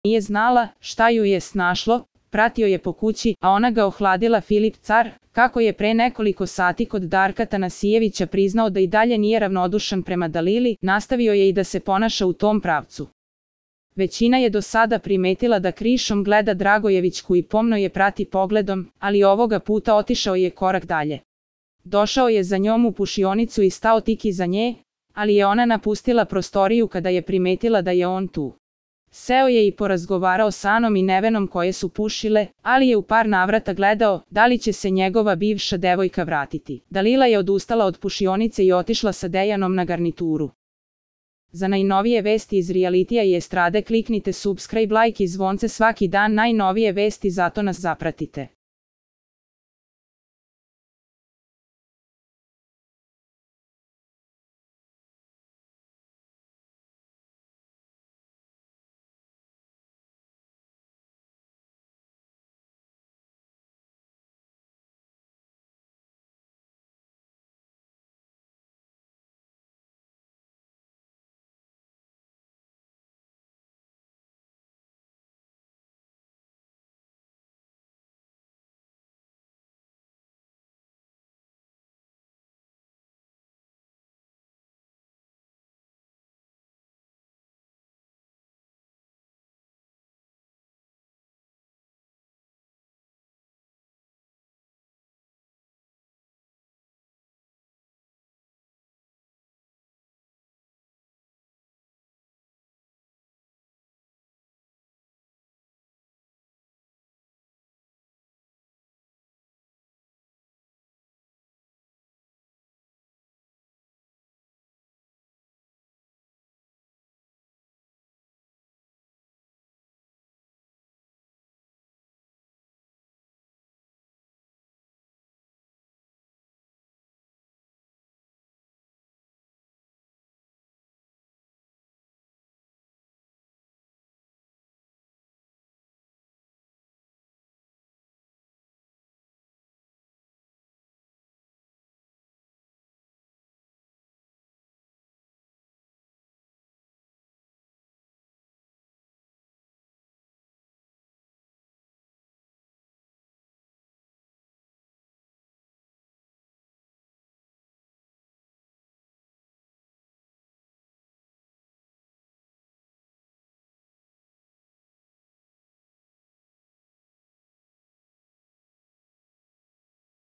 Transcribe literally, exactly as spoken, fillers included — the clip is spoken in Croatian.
Nije znala šta ju je snašlo, pratio je po kući, a ona ga ohladila. Filip Car, kako je pre nekoliko sati kod Darka Tanasijevića priznao da i dalje nije ravnodušan prema Dalili, nastavio je i da se ponaša u tom pravcu. Većina je do sada primetila da krišom gleda Dragojevićku i pomno je prati pogledom, ali ovoga puta otišao je korak dalje. Došao je za njom u pušionicu i stao tik iza nje, ali je ona napustila prostoriju kada je primetila da je on tu. Seo je i porazgovarao s Anom i Nevenom koje su pušile, ali je u par navrata gledao da li će se njegova bivša devojka vratiti. Dalila je odustala od pušionice i otišla sa Dejanom na garnituru. Za najnovije vesti iz realitija i estrade kliknite subscribe, like i zvonce svaki dan. Najnovije vesti, zato nas zapratite.